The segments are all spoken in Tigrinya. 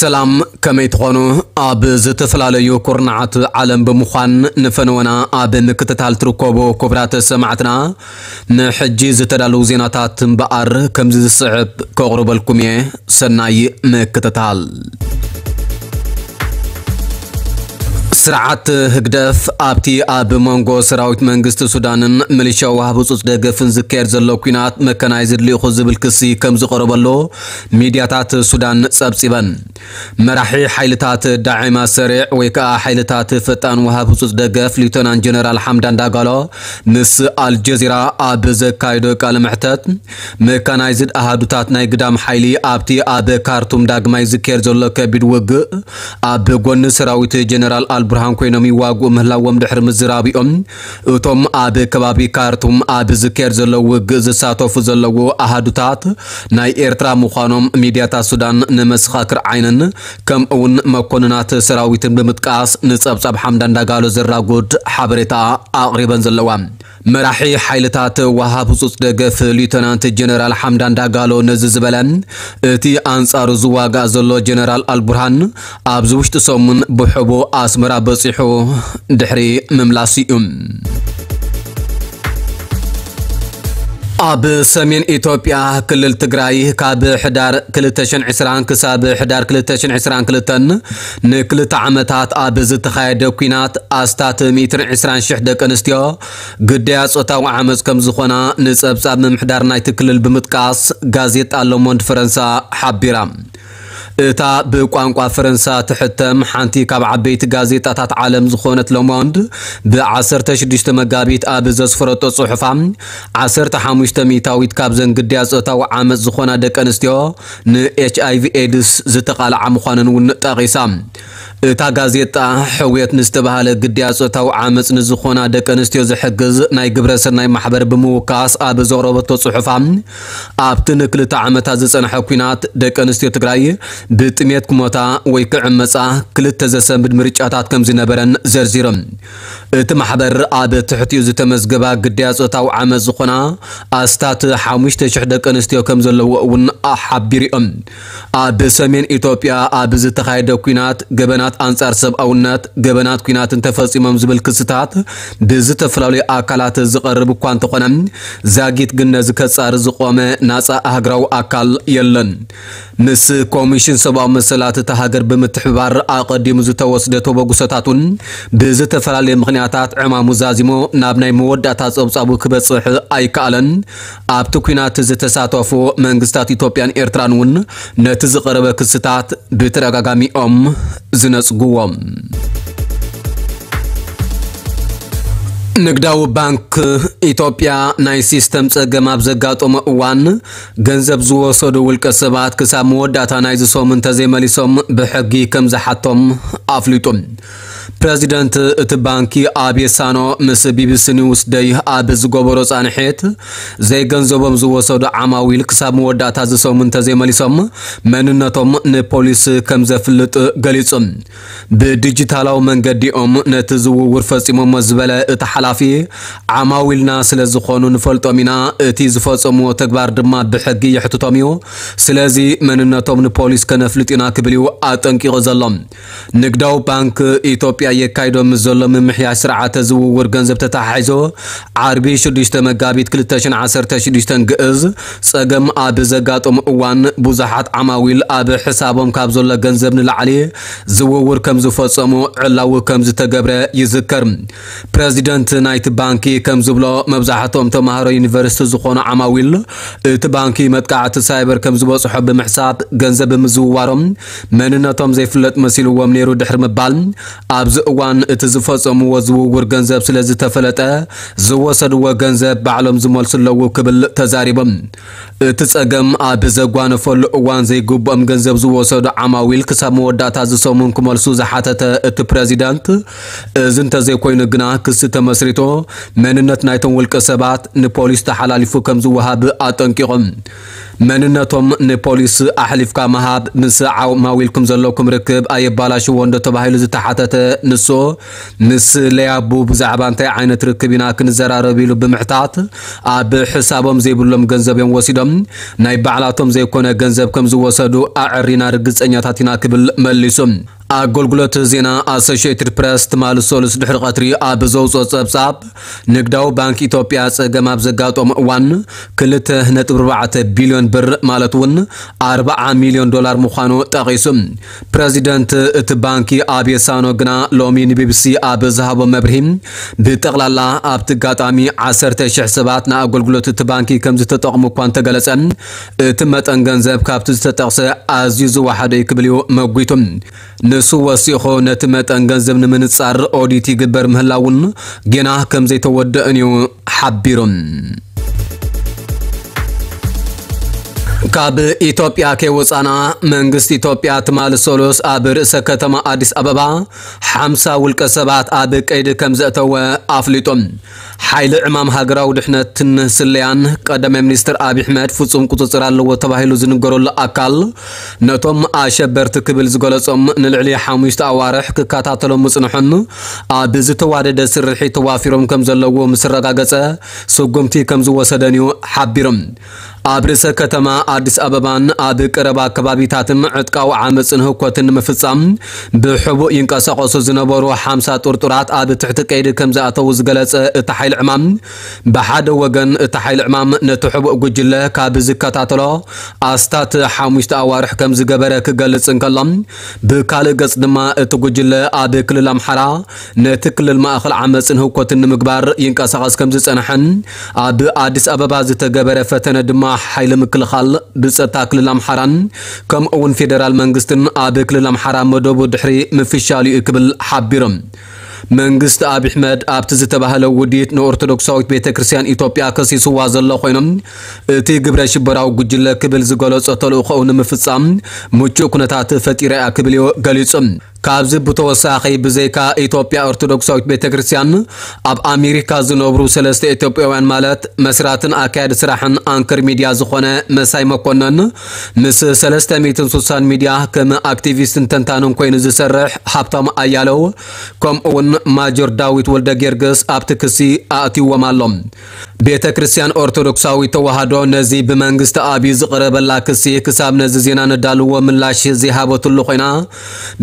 ሰላም፣ ከመይ ትኾኑ? ኣብ ዝተፈላለዩ ኩርናዓት ዓለም ብምዃን ንፈነወና ኣብ ምክትታል ትርከቡ ክቡራት ሰማዕትና፣ ንሕጂ ዝተዳለዉ ዜናታት እምበኣር ከምዚ ዝስዕብ ከቕርበልኩም እየ። ሰናይ ምክትታል። ስርዓት ህግደፍ ኣብቲ ኣብ መንጎ ሰራዊት መንግስቲ ሱዳንን ሚሊሻ ወሃብ ህጹጽ ደገፍን ዝካየድ ዘሎ ኲናት መካናይዝድ ልኢኹ ዝብል ክሲ ከም ዝቐረበሉ ሚድያታት ሱዳን ጸብጺበን። መራሒ ሓይልታት ዳዒማ ሰሪዕ ወይ ከኣ ሓይልታት ፈጣን ወሃብ ህጹጽ ደገፍ ሊውተናንት ጀነራል ሓምዳን ዳጋሎ ምስ ኣልጀዚራ ኣብ ዘካየዶ ቃለ መሕተት፣ መካናይዝድ ኣሃዱታት ናይ ግዳም ሓይሊ ኣብቲ ኣብ ካርቱም ዳግማይ ዝካየድ ዘሎ ከቢድ ውግእ ኣብ ጎኒ ሰራዊት ጀነራል ኣልቡርሃን ኮይኖም ይዋግኡ ምህላዎም ድሕሪ ምዝራቢኦም፣ እቶም ኣብ ከባቢ ካርቱም ኣብ ዝካየድ ዘሎ ውግእ ዝሳተፉ ዘለዉ ኣሃዱታት ናይ ኤርትራ ምዃኖም ሚድያታት ሱዳን ንመሰኻክር ዓይንን ከምኡውን መኮንናት ሰራዊትን ብምጥቃስ ንጸብጻብ ሓምዳን ዳጋሎ ዘራጉድ ሓበሬታ ኣቕሪበን ዘለዋ። መራሒ ሓይልታት ወሃብ ህጹጽ ደገፍ ሊውተናንት ጀነራል ሓምዳን ዳጋሎ ነዚ ዝበለ፣ እቲ ኣንጻሩ ዝዋጋእ ዘሎ ጀነራል ኣልቡርሃን ኣብዚ ውሽጢ ሰሙን ብሕቡእ ኣስመራ በጺሑ ድሕሪ ምምላሱ እዩ። ኣብ ሰሜን ኢትዮጵያ ክልል ትግራይ ካብ ሕዳር ክልተ ሽሕን ዕስራን ክሳብ ሕዳር ክልተ ሽሕን ዕስራን ክልተን ንክልተ ዓመታት ኣብ ዝተኻየደ ኲናት ኣስታት ሚእትን ዕስራን ሽሕ ደቂ ኣንስትዮ ግዳያት ጾታዊ ዓመጽ ከም ዝኾና ንጸብጻብ ምምሕዳር ናይቲ ክልል ብምጥቃስ ጋዜጣ ሎሞንድ ፈረንሳ ሓቢራ። እታ ብቋንቋ ፈረንሳ ትሕተም ሓንቲ ካብ ዓበይቲ ጋዜጣታት ዓለም ዝኾነት ሎሞንድ ብ ዓሰርተ ሽዱሽተ መጋቢት ኣብ ዘስፈረቶ ጽሑፋ፣ ዓሰርተ ሓሙሽተ ሚእታዊት ካብዘን ግዳያት ጾታዊ ዓመጽ ዝኾና ደቂ ኣንስትዮ ን ኤች ኣይ ቪ ኤድስ ዝተቓልዓ ምዃነን እውን ጠቒሳ። እታ ጋዜጣ ሕውየት ንዝተባህለ ግዳያት ጾታዊ ዓመጽ ንዝኾና ደቂ ኣንስትዮ ዝሕግዝ ናይ ግብረ ሰናይ ማሕበር ብምውካስ ኣብ ዘቕረበቶ ጽሑፋ፣ ኣብቲ ንክልተ ዓመታት ዝጸንሐ ኲናት ደቂ ኣንስትዮ ትግራይ ብጥሜት ክሞታ ወይ ክዕመጻ ክልተ ዘሰንብድ ምርጫታት ከም ዝነበረን ዘርዚሮም። እቲ ማሕበር ኣብ ትሕቲኡ ዝተመዝገባ ግዳያት ጾታዊ ዓመጽ ዝኾና ኣስታት ሓሙሽተ ሽሕ ደቂ ኣንስትዮ ከም ዘለዎ እውን ሓቢሩ እዮም። ኣብ ሰሜን ኢትዮጵያ ኣብ ዝተኻየደ ኲናት ገበናት ኣንጻር ሰብኣውነት፣ ገበናት ኲናትን ተፈጺሞም ዝብል ክስታት ብዝተፈላለዩ ኣካላት ዝቐርብ እኳ እንተኾነ፣ ዛጊት ግን ነዚ ከጻሪ ዝቖመ ናጻ ኣህግራዊ ኣካል የለን። ምስ ኮሚሽን ሰብኣዊ መሰላት እታ ሃገር ብምትሕብባር ኣቐዲሙ ዝተወስደ ተበግሶታት እውን ብዝተፈላለየ ምኽንያታት ዕማሙ ዛዚሙ ናብ ናይ መወዳእታ ጸብጻቡ ክበጽሕ ኣይከኣለን። ኣብቲ ኲናት ዝተሳተፉ መንግስታት ኢትዮጵያን ኤርትራን እውን ነቲ ዝቐረበ ክስታት ብተደጋጋሚ እዮም ዝነጽግዎ። ንግዳዊ ባንክ ኢትዮጵያ ናይ ሲስተም ጸገም ኣብ ዘጋጠሞ እዋን ገንዘብ ዝወሰዱ ውልቀ ሰባት ክሳብ መወዳእታ ናይዚ ሰሙን እንተዘይመሊሶም ብሕጊ ከም ዝሓቶም ኣፍሊጡ። ፕረዚደንት እቲ ባንኪ ኣቤ ሳኖ ምስ ቢ ቢ ሲ ኒውስ ደይ ኣብ ዝገበሮ ጻንሒት፣ ዘይገንዘቦም ዝወሰዱ ዓማዊል ክሳብ መወዳእታ እዚ ሰሙን እንተዘይመሊሶም መንነቶም ንፖሊስ ከም ዘፍልጥ ገሊጹ። ብዲጂታላዊ መንገዲኦም ነቲ ዝውውር ፈጺሞሞ ዝበለ እቲ ሓላፊ፣ ዓማዊልና ስለ ዝኾኑ ንፈልጦም ኢና፣ እቲ ዝፈጸምዎ ተግባር ድማ ብሕጊ የሕትቶም እዩ። ስለዚ መንነቶም ንፖሊስ ከነፍልጥ ኢና ክብል እዩ ኣጠንቂቑ ዘሎ። ንግዳዊ ባንክ ኢትዮጵያ የካይዶ ምስ ዘሎ ምምሕያሽ ስርዓተ ዝውውር ገንዘብ ተተሓሒዞ፣ ዓርቢ ሽዱሽተ መጋቢት ክልተ ሽሕን ዓሰርተ ሽዱሽተን ግእዝ ጸገም ኣብ ዘጋጠሙ እዋን ብዙሓት ዓማዊል ኣብ ሕሳቦም ካብ ዘሎ ገንዘብ ንላዕሊ ዝውውር ከም ዝፈጸሙ ዕላዊ ከም ዝተገብረ ይዝከር። ፕረዚደንት ናይቲ ባንኪ ከም ዝብሎ፣ መብዛሕትኦም ተማሃሮ ዩኒቨርሲቲ ዝኾኑ ዓማዊል እቲ ባንኪ መጥቃዕቲ ሳይበር ከም ዝበጽሖ ብምሕሳብ ገንዘብ ብምዝውዋሮም መንነቶም ዘይፍለጥ መሲልዎም ነይሩ ድሕሪ ምባል፣ ኣብዚ እዋን እቲ ዝፈጸምዎ ዝውውር ገንዘብ ስለ ዝተፈለጠ ዝወሰድዎ ገንዘብ ባዕሎም ዝመልሱ ኣለዉ ክብል ተዛሪቦም። እቲ ጸገም ኣብ ዘጓነፈሉ እዋን ዘይግብኦም ገንዘብ ዝወሰዱ ዓማዊል ክሳብ መወዳእታ ዝሰሙን ክመልሱ ዝሓተተ እቲ ፕረዚዳንት፣ እዚ እንተዘይኮይኑ ግና ክሲ ተመስሪቶ መንነት ናይቶም ውልቀ ሰባት ንፖሊስ ተሓላሊፉ ከም ዝወሃብ ኣጠንቂቖም። መንነቶም ንፖሊስ ኣሕሊፍካ ምሃብ ምስ ዓማዊልኩም ዘለኩም ርክብ ኣየባላሽዎ እንዶ ተባሂሉ ዝተሓተተ ንሱ፣ ምስ ለያቡ ብዛዕባ እንታይ ዓይነት ርክብ ኢና ክንዘራረብ ኢሉ ብምሕታት፣ ኣብ ሕሳቦም ዘይብሎም ገንዘብ እዮም ወሲዶም። ናይ ባዕላቶም ዘይኮነ ገንዘብ ከም ዝወሰዱ ኣዕሪና ርግጸኛታት ኢና ክብል መሊሱ። ኣገልግሎት ዜና ኣሶሽየትድ ፕረስ ትማሊ ሰሉስ ድሕሪ ቀትሪ ኣብ ዘውፅኦ ጸብጻብ፣ ንግዳዊ ባንክ ኢትዮጵያ ጸገም ኣብ ዘጋጠሞ እዋን ክልተ ነጥቢ ኣርባዕተ ቢልዮን ብር፣ ማለት እውን ኣርባዓ ሚልዮን ዶላር ምዃኑ ጠቒሱ። ፕረዚደንት እቲ ባንኪ ኣቤ ሳኖ ግና ሎሚ ንቢቢሲ ኣብ ዝሃቦ መብርሂ፣ ብጠቕላላ ኣብቲ ኣጋጣሚ ዓሰርተ ሽሕ ሰባት ንኣገልግሎት እቲ ባንኪ ከም ዝተጠቕሙ እኳ እንተገለጸ፣ እቲ መጠን ገንዘብ ካብቲ ዝተጠቕሰ ኣዝዩ ዝወሓደ እዩ ክብል እዩ መጒቱ። ንሱ ወሲኹ፣ ነቲ መጠን ገንዘብ ንምንጻር ኦዲት ይግበር ምህላውን ጌና ከም ዘይተወደእን እዩ ሓቢሩ። ካብ ኢትዮጵያ ከይወጻና፣ መንግስቲ ኢትዮጵያ ትማሊ ሰሉስ ኣብ ርእሰ ከተማ ኣዲስ ኣበባ ሓምሳ ውልቀ ሰባት ኣብ ቀይዲ ከም ዘእተወ ኣፍሊጡ። ሓይሊ ዕማም ሃገራዊ ድሕነትን ስለያን ቀዳማይ ሚኒስትር ኣብይ ኣሕመድ ፍጹም ቁጽጽር ኣለዎ ተባሂሉ ዝንገረሉ ኣካል፣ ነቶም ኣሸበርቲ ክብል ዝገለጾም ንልዕሊ ሓሙሽተ ኣዋርሕ ክከታተሎም ምጽንሑን ኣብ ዝተዋደደ ስርሒት ተዋፊሮም ከም ዘለዉ ምስ ኣረጋገጸ፣ ስጉምቲ ከም ዝወሰደን እዩ ሓቢሩ። ኣብ ርእሰ ከተማ ኣዲስ ኣበባን ኣብ ቀረባ ከባቢታትን ዕጥቃዊ ዓመጽን ህውከትን ንምፍጻም ብሕቡእ ይንቀሳቐሱ ዝነበሩ ሓምሳ ጥርጡራት ኣብ ትሕቲ ቀይዲ ከም ዝኣተዉ ዝገለጸ እቲ ሓይሊ ዕማም፣ ብሓደ ወገን እቲ ሓይሊ ዕማም ነቲ ሕቡእ ጉጅለ ካብ ዝከታተሎ ኣስታት ሓሙሽተ ኣዋርሕ ከም ዝገበረ ክገልጽ እንከሎ፣ ብካልእ ገጽ ድማ እቲ ጉጅለ ኣብ ክልል ኣምሓራ ነቲ ክልል ማእኸል ዓመጽን ህውከትን ንምግባር ይንቀሳቐስ ከም ዝጸንሐን፣ ኣብ ኣዲስ ኣበባ ዝተገበረ ፈተነ ድማ ሓይሊ ምክልኻል ብጸጥታ ክልል ኣምሓራን ከምኡ እውን ፌደራል መንግስትን ኣብ ክልል ኣምሓራ መደቡ ድሕሪ ምፍሻሉ እዩ ክብል ሓቢሩ። መንግስቲ ኣብይ ኣሕመድ ኣብቲ ዝተባህለ ውዲት ንኦርቶዶክሳዊት ቤተ ክርስቲያን ኢትዮጵያ ከሲስዋ ዘሎ ኮይኖም፣ እቲ ግብረ ሽበራዊ ጉጅለ ክብል ዝገለጾ ተልእኾኡ ንምፍጻም ምቹእ ኩነታት ፈጢራ እያ ክብል እዩ ገሊጹ። ካብዚ ብተወሳኺ፣ ብዘይካ ኢትዮጵያ ኦርቶዶክሳዊት ቤተ ክርስቲያን፣ ኣብ ኣሜሪካ ዝነብሩ ሰለስተ ኢትዮጵያውያን፣ ማለት መስራትን ኣካያዲ ስራሕን ኣንከር ሚድያ ዝኾነ መሳይ መኮነን፣ ምስ ሰለስተ ሚእትን ስሳን ሚድያ ከም ኣክቲቪስትን ተንታንን ኮይኑ ዝሰርሕ ሃብታሙ ኣያለው፣ ከምኡ እውን ማጆር ዳዊት ወልደ ጊዮርጊስ ኣብቲ ክሲ ኣእትይዎም ኣሎ። ቤተ ክርስቲያን ኦርቶዶክሳዊት ተዋህዶ ነዚ ብመንግስቲ ኣብይ ዝቐረበላ ክሲ ክሳብ ነዚ ዜና ነዳልዎ ምላሽ ዘይሃበትሉ ኮይና፣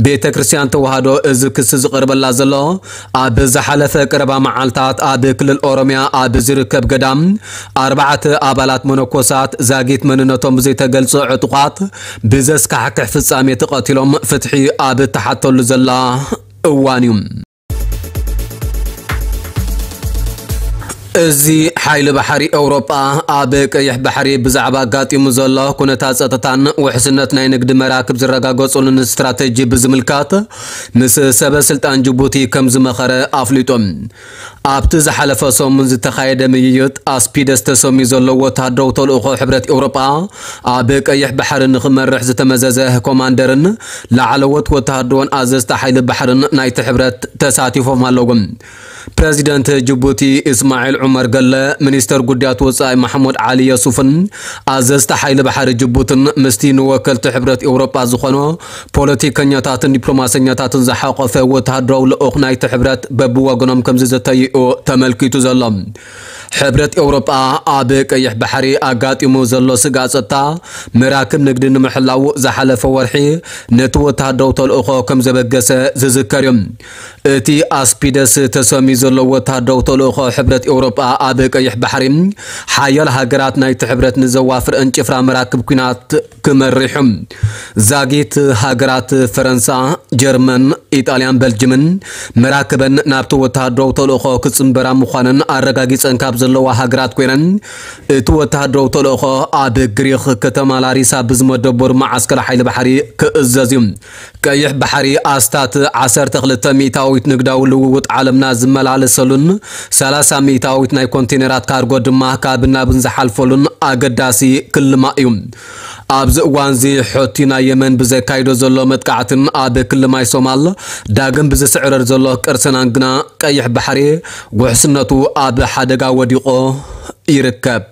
ቤተ ክርስቲያን ተዋህዶ እዚ ክሲ ዝቐርበላ ዘሎ ኣብ ዝሓለፈ ቀረባ መዓልታት ኣብ ክልል ኦሮሚያ ኣብ ዝርከብ ገዳም ኣርባዕተ ኣባላት መነኮሳት ዛጊት መንነቶም ብዘይተገልጸ ዕጡቓት ብዘስካሕክሕ ፍጻሜ ተቐቲሎም ፍትሒ ኣብ እተሓተሉ ዘላ እዋን እዩ። እዚ ሓይሊ ባሕሪ ኤውሮጳ ኣብ ቀይሕ ባሕሪ ብዛዕባ ኣጋጢሙ ዘሎ ኩነታት ጸጥታን ውሕስነት ናይ ንግዲ መራክብ ዝረጋገጹሉን ስትራተጂ ብዝምልከት ምስ ሰበ ስልጣን ጅቡቲ ከም ዝመኸረ ኣፍሊጡ። ኣብቲ ዝሓለፈ ሰሙን ዝተኻየደ ምይይጥ፣ ኣስፒደስ ተሰምዩ ዘሎ ወተሃደራዊ ተልእኾ ሕብረት ኤውሮጳ ኣብ ቀይሕ ባሕሪ ንኽመርሕ ዝተመዘዘ ኮማንደርን ላዕለዎት ወተሃደራውን ኣዘዝቲ ሓይሊ ባሕርን ናይቲ ሕብረት ተሳቲፎም ኣለዉ። ፕረዚደንት ጅቡቲ እስማዒል ዑመር ገለ፣ ሚኒስተር ጉዳያት ወጻኢ ማሕሙድ ዓሊ የሱፍን ኣዘዝቲ ሓይሊ ባሕሪ ጅቡትን ምስቲ ንወከልቲ ሕብረት ኤውሮጳ ዝኾኑ ፖለቲከኛታትን ዲፕሎማሰኛታትን ዝሓቖፈ ወተሃደራዊ ልኡኽ ናይቲ ሕብረት በብወገኖም ከም ዝዘተዩ ተመልኪቱ ዘሎ። ሕብረት ኤውሮጳ ኣብ ቀይሕ ባሕሪ ኣጋጢሙ ዘሎ ስግኣት ጸጥታ መራክብ ንግዲ ንምሕላው ዝሓለፈ ወርሒ ነቲ ወተሃደራዊ ተልእኾ ከም ዘበገሰ ዝዝከር እዩ። እቲ ኣስፒደስ ተሰምዩ ዘሎ ወተሃደራዊ ተልእኾ ሕብረት ኤውሮጳ ኣብ ቀይሕ ባሕሪ ሓያል ሃገራት ናይቲ ሕብረት ንዘዋፍረን ጭፍራ መራክብ ኲናት ክመርሑ። ዛጊት ሃገራት ፈረንሳ፣ ጀርመን፣ ኢጣልያን በልጅምን መራክበን ናብቲ ወተሃደራዊ ተልእኾ ክጽንበራ ምዃነን ኣረጋጊጸን ካብ ዘለዋ ሃገራት ኮይነን፣ እቲ ወተሃደራዊ ተልእኾ ኣብ ግሪኽ ከተማ ላሪሳ ብዝመደበሩ መዓስከር ሓይሊ ባሕሪ ክእዘዝ እዩ። ቀይሕ ባሕሪ ኣስታት ዓሰርተ ክልተ ሚእታዊት ንግዳዊ ልውውጥ ዓለምና ዝመላለሰሉን ሰላሳ ሚእታዊት ናይ ኮንቴነራት ካርጎ ድማ ካብን ናብን ዝሓልፈሉን ኣገዳሲ ክልማእ እዩ። ኣብዚ እዋንዚ ሑቲ ናይ የመን ብዘካይዶ ዘሎ መጥቃዕትን ኣብ ክሊ ማይ ሶማል ዳግም ብዝስዕረር ዘሎ ቅርሰናን ግና ቀይሕ ባሕሪ ውሕስነቱ ኣብ ሓደጋ ወዲቑ ይርከብ።